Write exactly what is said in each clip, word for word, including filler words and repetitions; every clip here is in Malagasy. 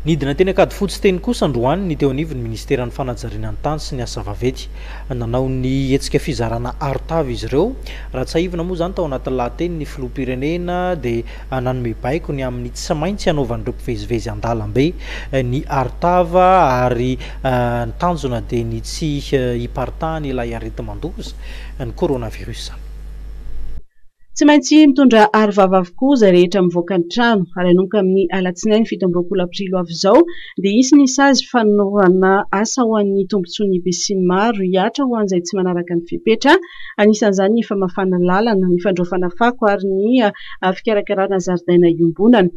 Nidina teny Ankadifotsy teny kosa androany ny teo anivon'ny ministeran'ny fanajariana ny tany sy ny asa vaventy. Nanao ny hetsika fizarana arotava izy ireo. Raha tsiahivina moa izany, tao anatin'ny lahateny ny filoham-pirenena dia nanome baiko ny amin'ny tsy maintsy hanaovan'ireo mpivezivezy an-dalambe ny arotava, ary ny tanjona dia ny tsy hiparitahany ilay areti-mandoza, ny coronavirus. Tsy maintsy mitondra aro vava avokoa izay rehetra mivoaka ny trano, ary hanomboka amin'ny alatsinainy fito amby roapolo aprily ho avy izao dia hisy ny sazy fanaovana asa ho an'ny tombontsoan'ny besinimaro hihatra ho an'izay tsy manaraka ny fepetra, anisan'izany ny famafana lalana, ny fandraofana fako ary ny fikarakarana zaridaina iombonana.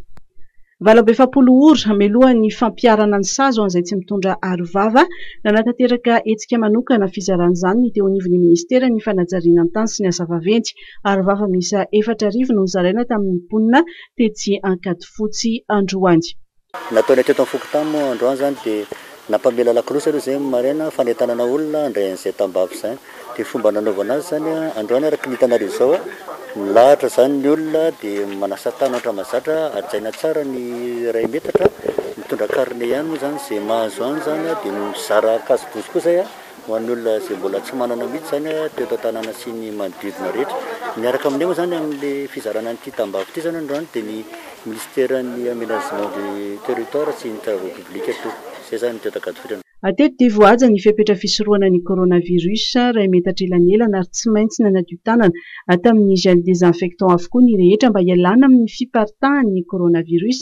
Valo amby efapolo ora mialohan'ny fampiharana ny sazy ho an'izay tsy mitondra aro vava, nanatanteraka hetsika manokana fizarana izany ny teo anivon'ny ministeran'ny fanajariana ny tany sy ny asa vaventy. Aro vava miisa efatra arivo no nozaraina tamin'ny mponina tetsy Ankadifotsy androany. Nataonay teto amin'ny fokontany moa androany izany dia nampamela lakolosy aloha izay maraina, fanentanana olona handray an'izay tambavy izany. Dia fomba nanaovana azy izany androany araka ny hitanareo izao, milahatra izany ny olona dia manasa tanana ohatra mahazatra, hajaina tsara ny iray metatra, mitondra carnet ihany moa izany izay mahazo any izany, dia mizara cache-bouche koa izay ho an'ny olona izay mbola tsy manana mihitsy izany teto an-tanàna sy ny manodidina rehetra. Miaraka aminay moa izany amin'ilay fizarana an'ity tambavy ity izany androany dia ny ministeran'ny aménagement du territoire sy ny travaux publics eto. Izay izany ny teto Ankadifotsy. Hatreto dia voahaja ny fepetra fisorohana ny coronavirus, iray metatra elanelana, ary tsy maintsy nanadio tanana tamin'ny gel désinfectant avokoa ny rehetra mba hialana amin'ny fiparitahan'ny coronavirus.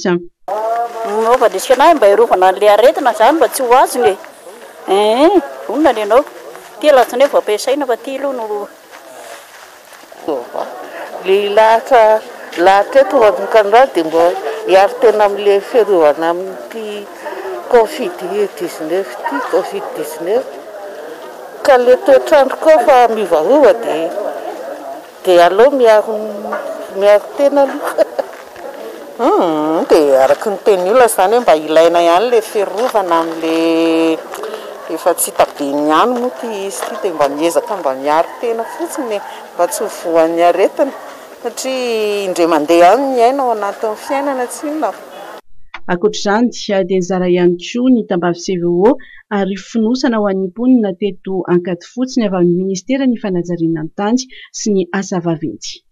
Manaova resaka anahy mba hiarovana an'ilay aretina izany mba tsy ho azony e. Eh, vonona ny anao. Ty alatsinainy vao ampiasaina fa ty aloha no Lehilahy lahatra eto manomboka dia mba hiaro tena amin'ilay fiarovana amin'ity covid dix-neuf ity, covid dix-neuf. Ka ilay toetr'andro koa fa miovaova dia dia aleo miaro miaro tena aloha. Dia araka ny tenin'ny olona izany hoe mba ilaina ihany ilay fiarovana amin'ilay efa tsy hita be ny ihany moa ity izy ity, dia mba miezaka mba miaro tena fotsiny mba tsy ho voan'ny aretina, satria indray mandeha ihany ny aina ao anatin'ny fiainana tsy inona. Ankoatr'izany dia nizara ihany koa ny tambavy C V O ary fonosana ho an'ny mponina teto Ankadifotsy ny avy amin'ny ministeran'ny fanajariana ny tany sy ny asa vaventy.